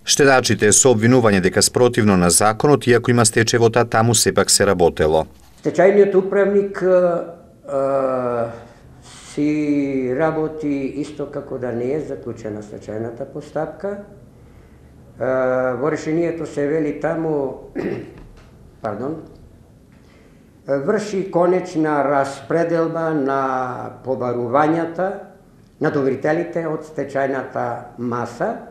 Штедачите со обвинување дека спротивно на законот, иако има стечевота, таму сепак се работело. Стечајниот управник си работи исто како да не е заклучена стечајната постапка. Во решението се вели таму, врши конечна распределба на побарувањата на доверителите од стечајната маса.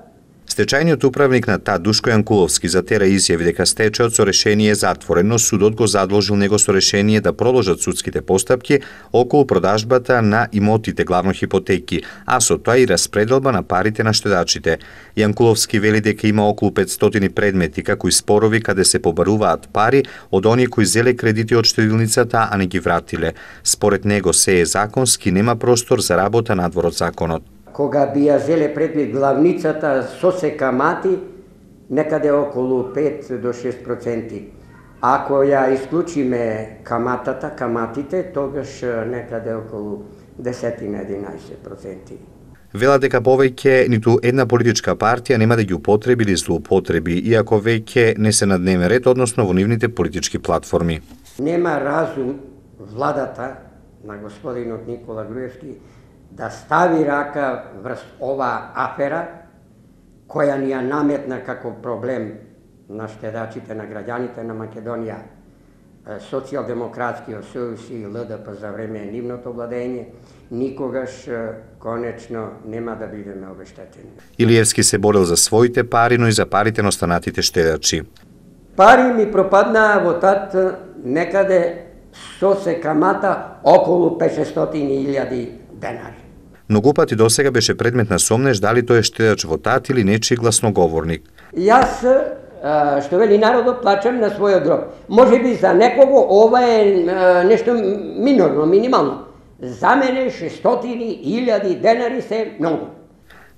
Стечајниот управник на ТАД Душко Јанкуловски затера изјави дека стечајот со решение е затворен, но судот го задолжил него со решение да продолжат судските постапки околу продажбата на имотите, главно хипотеки, а со тоа и распределба на парите на штедачите. Јанкуловски вели дека има околу 500 предмети, како и спорови каде се побаруваат пари од оние кои зеле кредити од штедилницата, а не ги вратиле. Според него се е законски, нема простор за работа надвор од законот. Кога би ја зеле предвид главницата со се камати, некаде околу 5 до 6%. Ако ја исклучиме каматите, тогаш некаде околу 10-11%. Вела дека повеќе ниту една политичка партија нема да ги употреби или злоупотреби, иако веќе не се на дневен ред, односно во нивните политички платформи. Нема разум владата на господинот Никола Груевски да стави рака врз ова афера, која ни ја наметна како проблем на штедачите, на граѓаните на Македонија, Социјалдемократскиот сојуз и ЛДП за време нивното владење, никогаш конечно нема да бидеме обештетени. Илиевски се борил за своите пари, но и за парите на останатите штедачи. Пари ми пропаднаа во ТАД некаде со се камата околу 500.000 денари. Многу пати досега беше предмет на сомнеж дали тој е штедач во ТАД или нечи гласноговорник. Јас, што вели народот, плачам на својот гроб. Може би за некого ова е нешто минорно, минимално. За мене 600.000 денари се многу.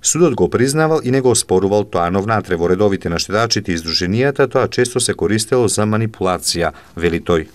Судот го признавал и не го оспорувал тоа, но внатре во редовите на штедачите и издруженијата тоа често се користело за манипулација, вели тој.